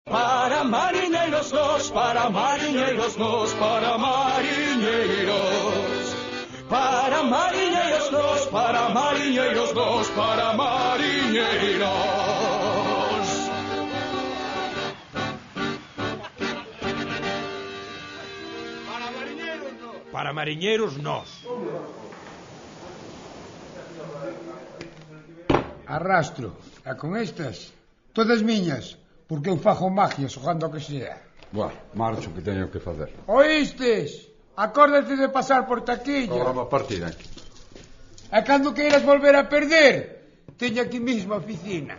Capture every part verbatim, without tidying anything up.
Para mariñeiros nos, para mariñeiros nos, para mariñeiros. Para mariñeiros nos, para mariñeiros nos, para mariñeiros. Para mariñeiros nos. Para mariñeiros nos. Arrastro, e con estas, todas miñas, porque eu fago magia xogando o que sea. Bueno, marcho que teño que facer. Oístes? Acórdate de pasar por taquilla. Agora va a partir aquí. E cando queiras volver a perder, teño aquí mismo a oficina.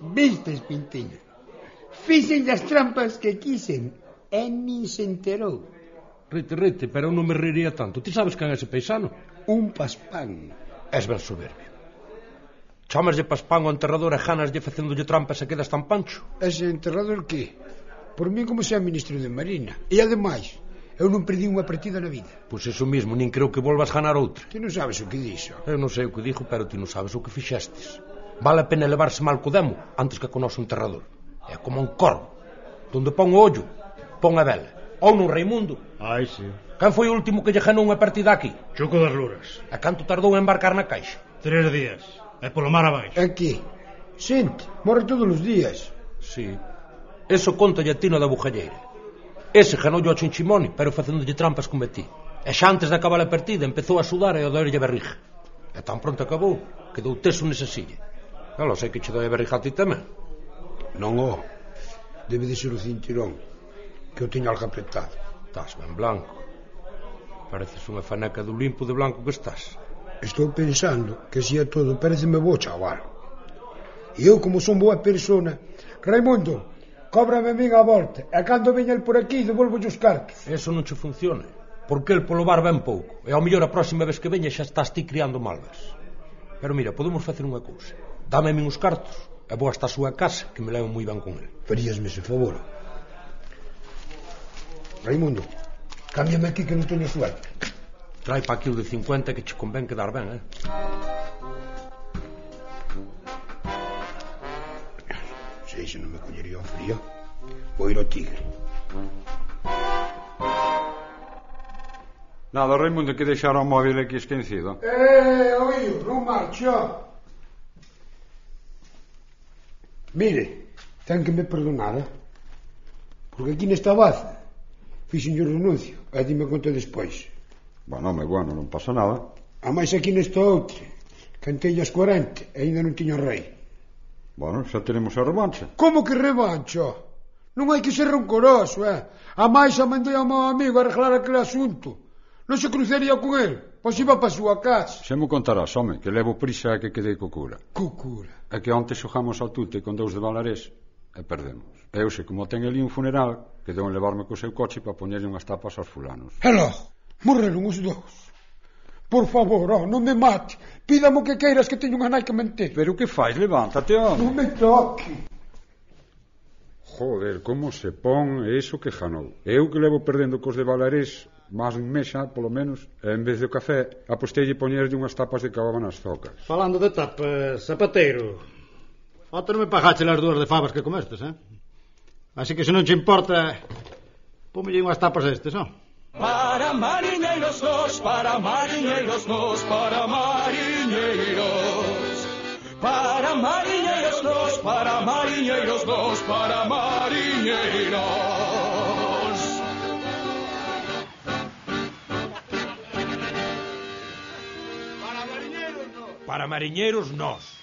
Vistes, Pintiño? Fixen as trampas que quisen e nin se enterou. Rite, rite, pero eu non me reiría tanto. Ti sabes quen é ese paisano? Un paspán. És ben soberbio. Chamaslle paspán ao enterrador e ganaslle facéndolle trampas e quedas tan pancho. Ese enterrador que? Por mí como se é ministro de Marina. E ademais, eu non perdi unha partida na vida. Pois iso mismo, nin creo que volvas ganar outra. Ti non sabes o que dixo. Eu non sei o que dixo, pero ti non sabes o que fixestes. Vale a pena levarse mal co demo antes que con o noso enterrador. É como un corvo. Donde pon o ollo, pon a vela. Ou non Raimundo. Ai, sí. Quen foi o último que lle ganou unha partida aquí? Choco das Luras. A canto tardou en embarcar na caixa? Tres días. É polo mar abaixo. Aquí. Xente, morre todos os días. Sí. Eso conta a Tino da Bujalleira. Ese ganoulle ao Chinchimoni, pero facéndolle trampas como a ti. E xa antes de acabar a partida empezou a sudar e a doerlle a barriga. E tan pronto acabou, quedou teso nesa silla. Non lo sei que che doi a barriga a ti tamén. Non o. Debe de ser o cinturón, que eu teño algo apretado. Estás ben blanco. Pareces unha faneca do limpo de blanco que estás. Estou pensando que se é todo pareceme bo, chaval. E eu, como son boa persona... Raimundo, cóbrame a min a volta, e cando veña el por aquí devolvo os cartos. Eso non che funciona, porque el polo bar ben pouco, e ao mellor a próxima vez que veña xa estás ti criando malvas. Pero mira, podemos facer unha cousa. Dame a min os cartos, e vou hasta a súa casa, que me levo moi ben con el. Faríasme ese favor. Raimundo, cámbiame aquí que non teño suerte. Trai pa aquí o de cincuenta que che convén quedar ben, eh? Sei se non me collería o frío. Vou ir ao Tigre. Nada, Raimundo, que deixara o móvil aquí esquecido. Eh, oído, non marcho. Mire, ten que me perdonar, eh? Porque aquí nesta baza fixen o renuncio, e dime conta despois. Bueno, me bueno, non pasa nada. A máis aquí nesta outra, cantei as cuarenta e ainda non tiño rei. Bueno, xa teremos a revancha. Como que revancho? Non hai que ser rancoroso, eh? A máis a mandei ao meu amigo a arreglar aquele asunto. Non se cruzaría con el, pois iba pa súa casa. Xa me contarás, home, que levo prisa a que quedei co cura. Co cura? É que onte xogamos ao tute con dous de Valarés e perdemos. E eu sei, como ten ali un funeral, quedou en levarme co seu coche para poñerlle unhas tapas aos fulanos. E logo, morreron os dous. Por favor, oh, non me mate. Pídame o que queiras, que teño unha nai que mentir. Pero que faz? Levántate, home. Non me toque. Joder, como se pon eso que janou. Eu que levo perdendo cos de Valarés máis un mes xa, polo menos, e en vez do café, apostelle poñerlle unhas tapas de cababa nas zocas. Falando de tapas, zapateiro. Ontem non me pagaste as dúas de favas que comestes, eh? Así que se non che importa, pómelle unhas tapas a estes, non? Para mariñeiros nos, para mariñeiros nos, para mariñeiros. Para mariñeiros nos, para mariñeiros nos, para mariñeiros. Para mariñeiros nos. Para mariñeiros nos.